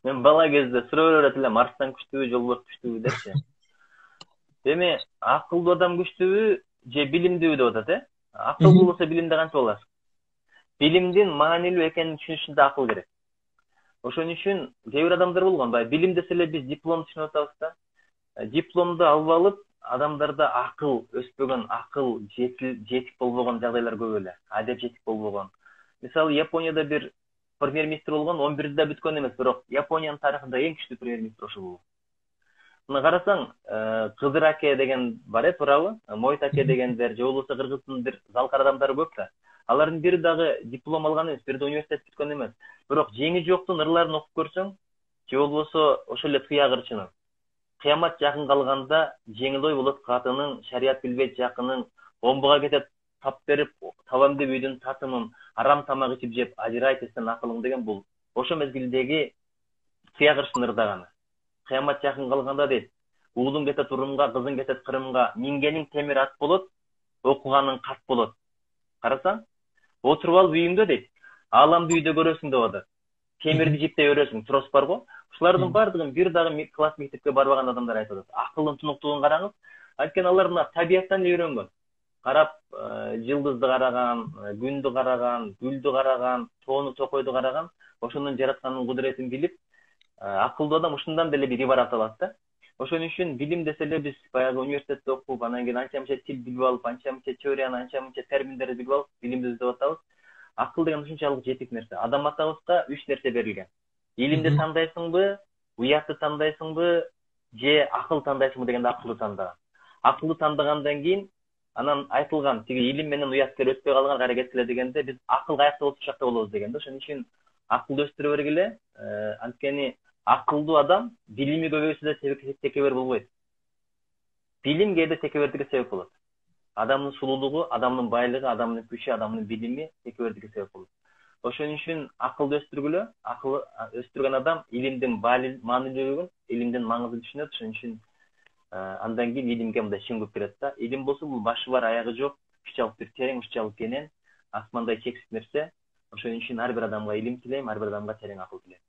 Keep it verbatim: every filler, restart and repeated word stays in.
Мен бала кезде сурап берет элем, Марстан күчтүүбү, Жолборс күчтүүбү депчи. Эми акылдуу адам күчтүүбү же билимдүүбү деп атат, э? Акылдуу болсо билимде канча болот? Билимдин маанилүү экенин түшүнүш үчүн да акыл керек. Ошон үчүн кээ бир адамдар болгон, баягы билим десе эле биз диплом түшүнүп атабыз да. Дипломду алып алып, адамдарда акыл өспөгөн, акыл жетик болбогон жагдайлар көп эле. Адеп жетик болбогон. Мисалы, Японияда бир премьер-министр болгон, он бирде да бүткөн эмес, бирок Япониянын тарыхында эң күчтүү премьер-министр ошол болду. Мына карасаң, Кызыр аке деген бар э, туурабы? Мойт аке дегендер, же болбосо Кыргыздын бир залкар адамдары көп да. Алардын бири дагы диплом алган эмес, бири да университет бүткөн эмес. Бирок жеңи жоктун ырларын окуп көрсөң, же болбосо ошол эле Тыягырчынын кыямат жакын калганда жеңил ой болот катынын, шарият билбейт жакынын, омбуга кетет тап берип, табам деп үйдүн татымын, арам тамак ичип жеп, ажырайт эстен акылың деген бул ошо мезгилдеги Тыягырчынын ырдаганы. Кыямат жакын калганда дейт, уулуң кетет Урумга, кызың кетет Кырымга, мингениң темир ат болот, окуганың кат болот. Карасаң, отуруп алып үйүңдө дейт, ааламды үйдө көрөсүң деп атат. Темирди жиптей өрөсүң, трос бар го. Ушулардын бардыгын бир дагы класс мектепке барбаган адамдар айтып атат. Акылдын тунуктугун караңыз. Анткени алар мына табияттан эле үйрөнгөн. Карап, жылдызды караган, күндү караган, гүлдү караган, тоону токойду караган, ошонун жаратканын кудуретин билип, акылдуу адам ушундан деле бир ибарат алат да. Ошон үчүн билим десе эле биз баягы университетте окуп, анан кийин анча мынча тил билип алып, анча мынча теорияны, анча мынча терминдерди билип алып, билимди издеп атабыз. Акыл деген ушунчалык жетик нерсе. Адам атабызга үч нерсе берилген. Илимди тандайсыңбы, уятты тандайсыңбы, же акыл тандайсыңбы дегенде акылды тандаган. Акылды тандагандан кийин анан айтылган тиги илим менен уяттар өтпөй калган кайра кеткиле дегенде биз акыл каякта болсо ошол жакта болобуз дегенде. Ошон үчүн акылды өстүрө бергиле. Анткени акылдуу адам билими көбөйсө да текебер болбойт. Билим кээде текебердикке себеп болот. Адамдын сулуулугу, адамдын байлыгы, адамдын күчү, адамдын билими текебердикке себеп болот. Ошон үчүн акылды өстүргүлө, акыл өстүргөн адам илимдин маанилүүлүгүн, илимдин маңызын түшүнөт. Ошон үчүн андан кийин илимге мындай шөңгүп кирет да. Илим болсо бул башы бар, аягы жок, ушунчалык бир терең, ушунчалык кенен, асмандай чексиз нерсе. Ошон үчүн ар бир адамга илим тилейм, ар бир адамга терең акыл тилейм.